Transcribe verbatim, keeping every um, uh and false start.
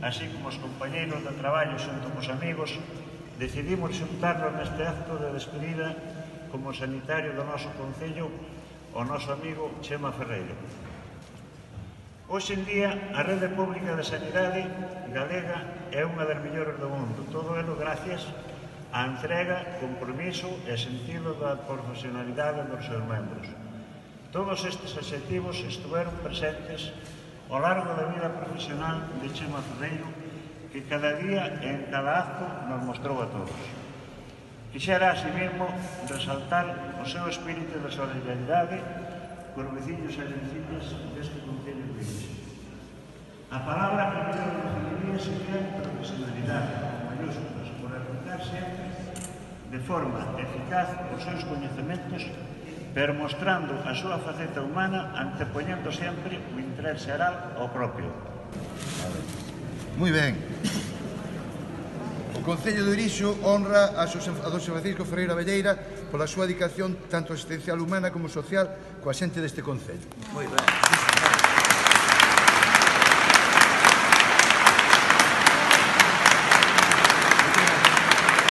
así como os compañeiros de traballo xunto cos amigos, decidimos xuntarnos neste acto de despedida como sanitario do noso concello o noso amigo Chema Ferreiro. Hoxe en día, a rede pública de sanidade galega é unha das mellores do mundo, todo elo gracias á entrega, compromiso e sentido da profesionalidade dos seus membros. Todos estes adxectivos estiveron presentes ao largo da vida profesional de Chema Ferreiro, que cada día e en cada acto nos mostrou a todos. Quixera, así mesmo, resaltar o seu espírito de solidaridade cos veciños e veciñas deste concello de Irixo. A palabra que me definiría sería profesionalidade, con mayúsculas, por aplicar sempre de forma eficaz os seus coñecementos, pero mostrando a súa faceta humana, antepoñendo sempre o interés xeral ao propio. Moi ben. O Concello de Irixo honra a don Francisco Ferreiro Abelleira pola súa dedicación tanto asistencial humana como social coa xente deste Concello. Moi ben.